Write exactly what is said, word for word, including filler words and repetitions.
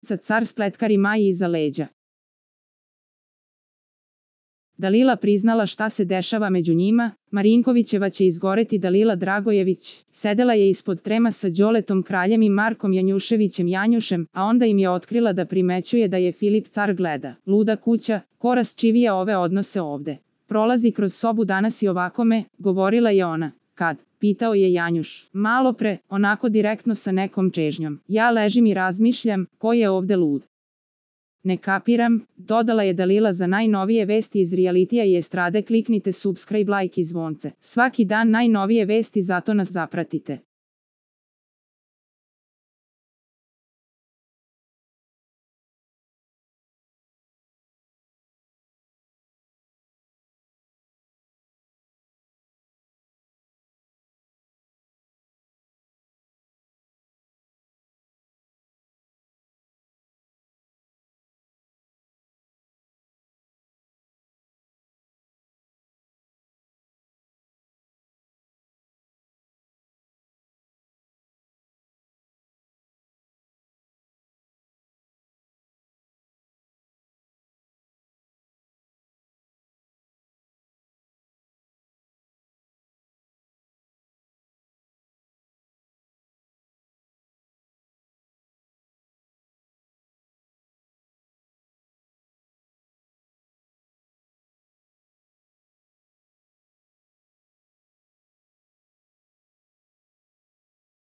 Car spletkari Maji iza leđa. Dalila priznala šta se dešava među njima, Marinkovićeva će izgoreti. Dalila Dragojević sedela je ispod trema sa Đoletom Kraljem i Markom Janjuševićem Janjušem, a onda im je otkrila da primećuje da je Filip Car gleda. Luda kuća, ko rasčivija ove odnose ovde. Prolazi kroz sobu danas i ovakome, govorila je ona. Kad? Pitao je Janjuš. Malo pre, onako direktno sa nekom čežnjom. Ja ležim i razmišljam, ko je ovde lud. Ne kapiram, dodala je Dalila. Za najnovije vesti iz realitija i estrade kliknite subscribe, like i zvonce. Svaki dan najnovije vesti, zato nas zapratite.